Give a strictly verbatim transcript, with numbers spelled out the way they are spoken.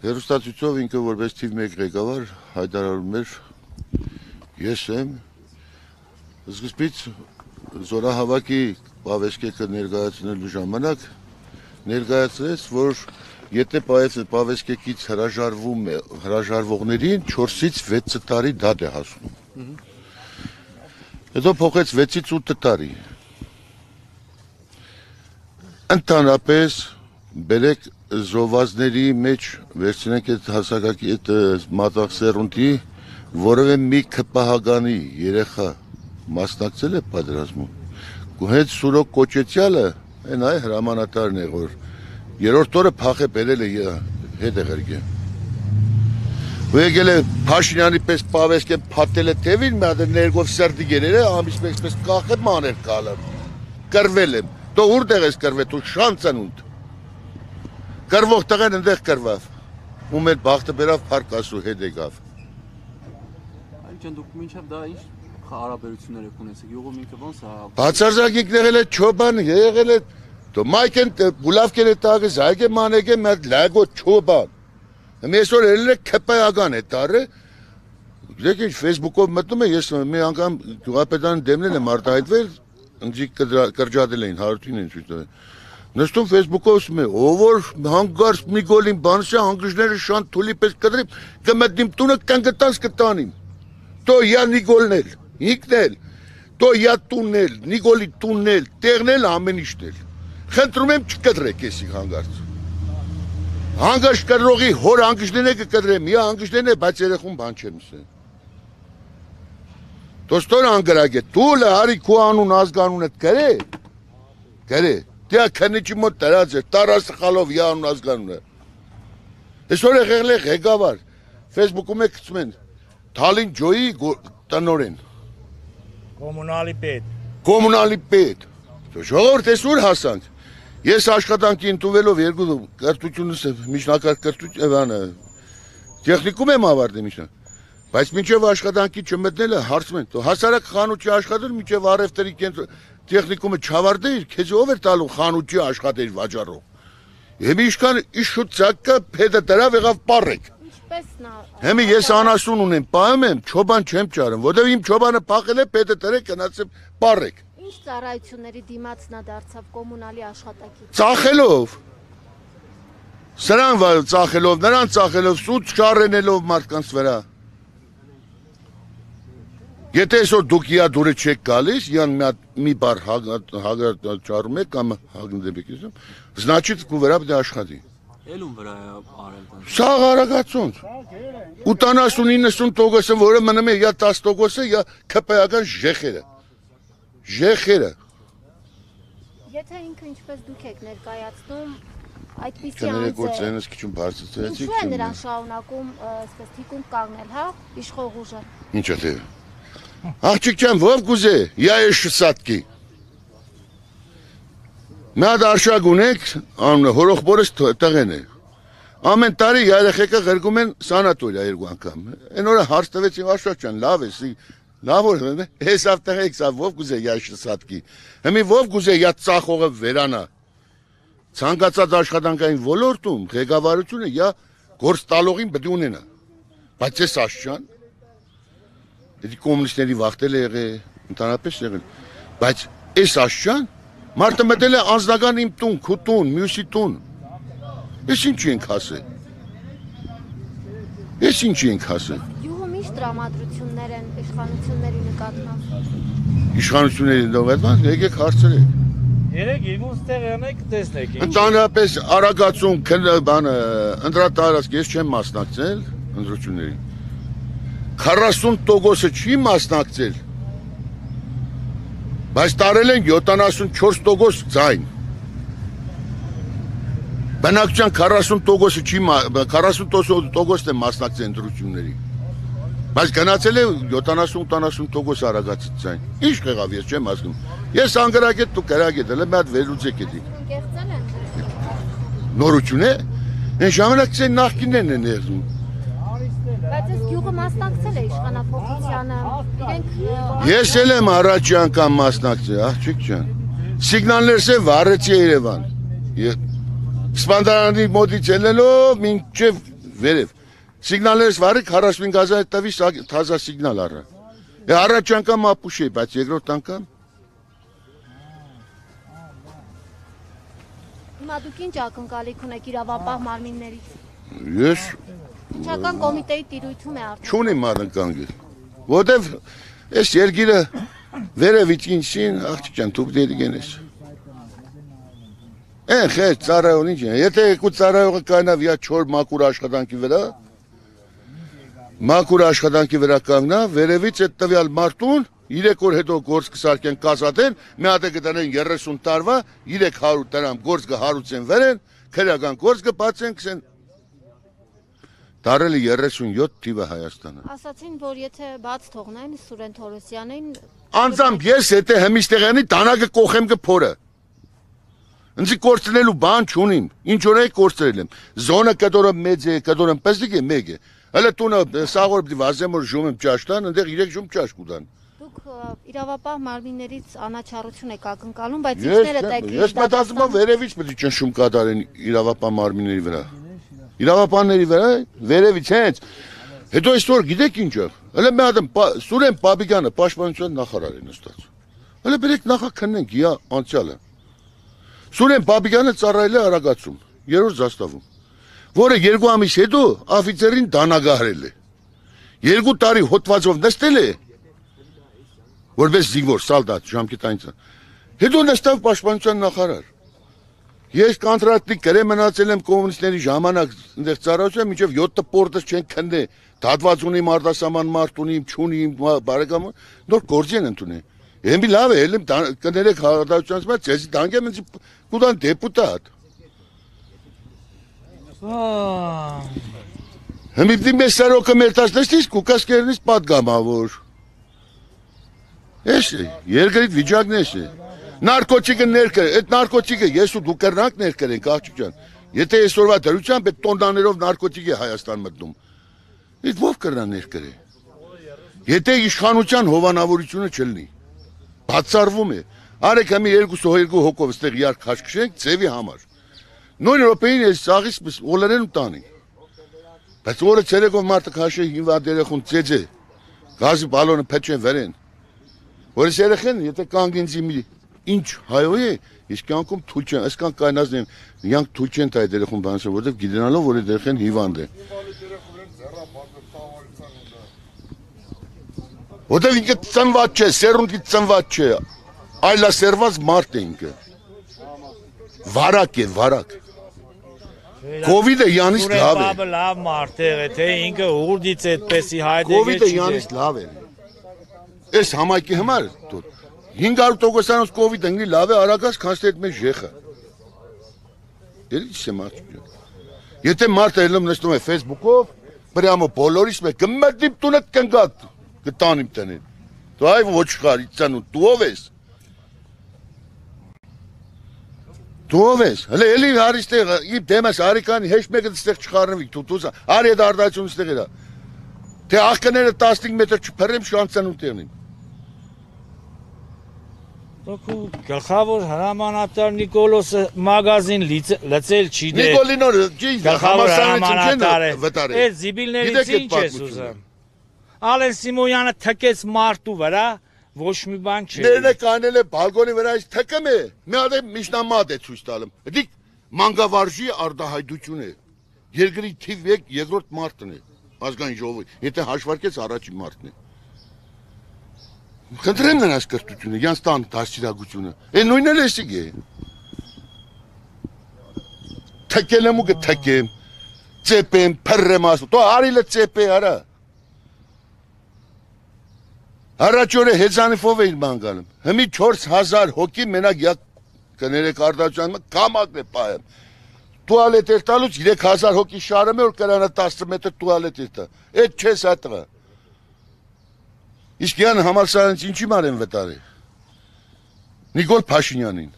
Հերոստացույցով ինքը որպես թիվ մեկ ղեկավար հայտարարում էր ես եմ սկզբից զորահավաքի պավեշկեքը ներկայացնելու ժամանակ ներկայացրեց, որ եթե պավեշկեկից հրաժարվում է հրաժարվողներին չորսից վեց տարի դատ է հասնում։ Հետո փոխեց վեցից ութ տարի։ Ընդհանրապես բերեք զովազների մեջ վերցնենք այդ հասակակի այդ մատաղ սերունդի որևէ մի քպահագանի երեխա մասնակցել է պատերազմում։ Հենց Սուրոկ Կոչեցյալը այն այ հրամանատարն է, որ երրորդ օրը փախե բերել է հետ է ղրգեն։ Ու եկել է Փաշինյանի պես պավեշկեն փաթել է թևին, մի հատ ներգով սրտի գերել է, ամիս պես կախը մաներ կալը։ Կրվել եմ։ Դու որտեղ ես կրվել, դու շանցանունդ։ Կրվող տղեն ընդեղ կրվավ, ու մեր բախտը բերավ փարկասու հետ եկավ։ Այլ դուք մինչև դա ինչ հարաբերություններ եք ունեցեք, յուղում ինքը ոնց է։ Բացարձակ եղել է չոբան, եղել է դու մայքեն բուլավկեն է տագը զայգե մանեգե մեր լագո չոբան։ Այսօր ելել է քպայական է տարը։ Դեք ինչ Facebook-ով մտնում է, ես մի անգամ գյուղապետարան դեմնել եմ արտահայտվել, ընձիկ կրճատել էին հարություն են ցույց տվել։ Նստում Facebook-ով ասում է, ով որ հանգարց մի գոլին բանսը հանգրժները շան թուլի պես կդրիմ, կմտնիմ տունը կանգտանց կտանիմ։ Տո յա Նիկոլնել, ինքնել, տո յա տուննել, Նիկոլի տուննել, տեղնել ամեն իշտել։ Խնդրում եմ չկդրեք էսի հանգարց։ Հանգարց կդրողի հոր հանգրժները կկդրեմ, յա հանգրժներն է, բայց երեխուն բան չեմ ասել։ Դոստոր անգրագ է, տուլը հարի քու անուն ազգանուն էդ կրե, կրե, դյա քնիչի մոտ տրած է, տարասը խալով յա անուն ազգանուն է։ Այսօր է եղել է ղեկավար, Facebook-ում է գցում են, Թալին ջոյի տնօրեն։ Կոմունալի պետ։ Կոմունալի պետ։ Ժողովուրդ ես ուր հասանք։ Ես աշխատանքի ընդունվելով երկու կրթությունս միջնակարգ կրթություն, տեխնիկում եմ ավարտել միջնակարգ։ Բայց մինչև աշխատանքի չմտնելը հարցում են, հասարակ խանութի աշխատել մինչև առևտրի տեխնիկումը չավարտել, քեզ ով էր տալու խանութի աշխատել վաճառող։ Եմ իշքան իշուտ ցակը փեդը դրավ եղավ պարեք։ Հեմի ես անասուն ունեմ, պահում եմ, չոբան չեմ ճարում, որտեղ իմ չոբանը փախել է, փեդը դրեք գնացել պարեք։ Ինչ ծառայությունների դիմացնա դարձավ կոմունալի աշխատակից։ Ծախելով։ Սրան ծախելով, նրան ծախելով, սուտ չառենելով մարդկանց վրա։ Եթե այսօր դուք իա դուրը չեք գալիս, յան մի բար հագարճարում եք կամ հագնდებ եք, значит կու վրա պետք է աշխատի։ Էլում վրա է արել։ Սաղ արագացոնց։ ութանասուն իննսուն տոկոսը, որը մնում է յա տասը տոկոսը, յա քպայական ժեխերը։ Ժեխերը։ Եթե ինքը ինչպես դուք եք ներկայացնում, այդպիսի Կներեք որ ծենս քիչ բարձրացրեցիք։ Ինչու է նրան շարունակում, այսպես թիկուն կանգնել, հա, իշխող ուժը։ Ինչ է թե։ Աղջիկ ջան, ով գուզե, յա է շսատկի։ Մի հատ արշակ ունեք, անունը հորոխբորս տղեն է։ Ամեն տարի երեխեքը ղրգում են սանատորիա երկու անգամ։ Այն օրը հարց տվեցին արշակ ջան, լավ է, լավ որ ես ավտեղեք սա ով գուզե յա շսատկի։ Հիմի ով գուզե յա ծախողը վերանա։ Ցանկացած աշխատանքային ոլորտում ղեկավարությունը յա գործ տալողին պետք է ունենա։ Բայց ես աշճան Դի կոմունիստների վախտել է եղել, ընդհանրապես եղել, բայց այս աշճան մարդը մտել է անձնական իմ տուն, քու տուն, մյուսի տուն։ Ես ինչ ենք ասել։ Ես ինչ ենք ասել։ Յուղում ինչ տրամադրություններ են իշխանությունների նկատմամբ։ Իշխանությունների նկատմամբ եկեք հարցրեք։ Երեք իրենց տեղ յանեք տեսնեք։ Ընդհանրապես արագացում բանը ընդրատարածք ես չեմ մասնակցել ընտրություններին։ քառասուն տոկոսը չի մասնակցել, բայց տարել են յոթանասունչորս տոկոս ձայն։ Բնակչության քառասուն տոկոսը չի, քառասուն տոկոսն է մասնակցել ընտրությունների, բայց գնացել է յոթանասուն տոկոս արագացից ձայն։ Ինչ եղավ ես չեմ հասկանում։ Ես անգրագետ դու գրագետ, հələ մի հատ վերլուծեք էդի։ Կեղծել են։ Նորություն է։ Այն ժամանակցի նախկիններն են եղում։ Բայց այս գյուղը մասնակցել է իշխանափոխությանը, իրենք Ես էլ եմ առաջի անգամ մասնակցել, աղջիկ ջան։ Սիգնալներս է վառեցի Երևան։ Սպանդարանի մոտից ելնելով մինչև վերև։ Սիգնալներս վարի քառասունհինգ հազար տվի թազա սիգնալ առա։ Է առաջ անգամ ապուշ է, բայց երկրորդ անգամ Հիմա դուք ինչ ակնկալիք ունեք իրավապահ մարմիններից։ ես Վիճական կոմիտեի տիրույթում է արդեն։ չունիմ ակնկալի։ Որտեվ այս երկիրը վերևից ինքին աղջիկ ջան դուք դերի գենես։ Են խես ծառայողն ինչ է։ Եթե երկու ծառայողը կայնավ իա չոր մակուր աշխատանքի վրա, մակուր աշխատանքի վրա կանգնա, վերևից այդ տվյալ մարդուն երեք օր հետո գործ կսարքեն կասատեն, մի հատ է կտանեն երեսուն տարվա, երեք հարյուր դրամ գործ կհարուցեն վերեն, քրեական գործ կբացեն, կսեն Տարել է երեսունյոթ թիվը Հայաստանը։ Ասացին, որ եթե բաց թողնեն Սուրեն Թորոսյանին, Անձամբ ես եթե հմիշտեղյանի տանագը կողեմ կփորը։ Ինձ կորցնելու բան չունիմ, ինչ որ է կորցրել եմ։ Զոնը կդորը մեծ է, կդորը պեսիկ է մեկ է։ Հələ տունը սաղոր պիտի վազեմ որ ժում եմ ճաշտան, այնտեղ երեք ժում ճաշ կուտան։ դուք իրավապահ մարմիններից անաչառություն եք ակնկալում, բայց ինչներ եք Ես մտածում եմ վերևից պետք է ճնշում կատարեն իրավապահ մարմինների վրա։ Իրավապահների վրա վերևից հենց հետո այսօր գիտեք ինչ է։ Հələ մի հատ Սուրեն Պապիկյանը պաշտպանության նախարար է նստած։ Հələ բերեք նախաքննենք իա անցյալը։ Սուրեն Պապիկյանը ծառայել է Արագածում, երրորդ զաստավում, որը երկու ամիս հետո աֆիցերին դանագահրել է։ Երկու տարի հոտվածով նստել է, որպես զինվոր, սալդատ, ժամկետային։ Հետո նստավ պաշտպանության նախարար։ Ես կոնտրակտի գրե մնացել եմ կոմունիստների ժամանակ այնտեղ ծառայություն, մինչև յոթ պորտս չեն քննե, դատված ունիմ արտասահման մարդ ունիմ, չունիմ, բարեկամ, նոր գործ են ընդունի։ Եմի լավ է, ելեմ կներեք հաղորդակցությունից մեջ, ես դանգեմ ինձ կուտան դեպուտատ։ Հմիպտի մեզ սարոկը մերտացնես կուկասկերնից պատգամավոր։ Ես է, երկրիտ վիճակն ես է։ Նարկոտիկը ներկեր, այդ նարկոտիկը ես ու դու կրնանք ներկերենք աղջիկ ջան։ Եթե այսօրվա դրությամբ այդ տոննաներով նարկոտիկ է Հայաստան մտնում։ Այդ ով կրնա ներկեր է։ Եթե իշխանության հովանավորությունը չլինի, բացառվում է։ Արեք համի երկուսը երկու հոգով ստեղ իարք քաշքշենք ձևի համար։ Նույն րոպեին ես սաղից օլերեն ու տանի։ Բայց օրը ցերեկով մարդը քաշի հինվա դերեխուն ծեծե։ Գազի բալոնը փեչեն վերեն։ Որս երեխեն, եթե կանգնեցի մի Ինչ հայոյ է, իսկ կյանքում թույլ չեն, այսքան կայնազն են, յանք թույլ չեն տայ դերեխուն բանսը, որտև գիտենալով, որ դերեխեն հիվանդ է։ Որտև ինքը ծնված չէ, սերունդի ծնված չէ, այլասերված մարդ է ինքը։ Վարակ է, վարակ։ Կովիդը յանից լավ է։ Սուրեն լավ մարդ է, թե ինքը ուղրդից այդպեսի հայտ է։ Կովիդը յանից լավ է։ Այս համայնքի համար հինգ հարյուր տոկոսանոց կովիդ ընգնի լավ է արագած քանստի այդ մեզ ժեխը։ Դեր ինչ է մարդ։ Եթե մարդը ելում նստում է Facebook-ով, պրյամո բոլորիս մեկ կմտնիմ տունդ կնգատ, կտանիմ տնին։ Դու այ ոչխար, իծան ու դու ով ես։ Դու ով ես։ Հələ էլի հարիստեղ իմ դեմս արիկանի հեշ մեկը ստեղ չխառնվի դու դուս արի այդ արդարացությունը ստեղ էրա։ Թե աղկները տասնհինգ մետր չփռեմ շանցան ու տեղնին։ Դուք գլխավոր հրամանատար Նիկոլոսը մագազին լծել չի դե։ Նիկոլինորը ջի հրամանատար է։ Այդ զիբիլներից ինչ ես ուզում։ Ալեն Սիմոյանը թքեց մարդու վրա, ոչ մի բան չէ։ Ներնե կանել է բալկոնի վրա այս թքեմ է։ Մի հատ է միջնամատ է ցույց տալım։ Դիք մանգավարժի արդահայտություն է։ Երկրի թիվ մեկ երկրորդ մարդն է։ Ազգային ժողովի։ Եթե հաշվարկես առաջին մարդն է։ Խնդրեմ նրանց կրթությունը, յանց տան դաստիարակությունը։ Է նույնն էլ էսիկ է։ Թքել եմ ու կթքեմ, ծեպեմ, փռեմ ասում։ Դու արիլը ծեպե արա։ Առաջ օրը հեզանիֆով էին բան գալում։ Հիմի չորս հազար հոգի մենակ յա կներեք արդարացան կամակն է պայեմ։ Տուալետ էր տալուց երեք հազար հոգի շարում է որ կրանա տասը մետր տուալետ էր տա։ Այդ չես հատղա։ Իսկ յան համալսարանից ինչի մարեն վտարի։ Նիկոլ Փաշինյանին։